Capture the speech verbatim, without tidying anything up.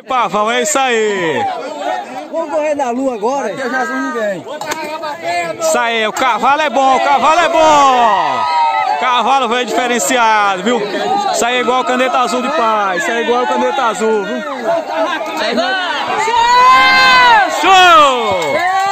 Pavão, é isso aí. Vamos correr na lua agora? Aqui é Jesus ninguém. Isso aí, o cavalo é bom, o cavalo é bom. Cavalo veio diferenciado, viu? Isso aí é igual o caneta azul de paz. Isso aí é igual o caneta azul, viu? Show!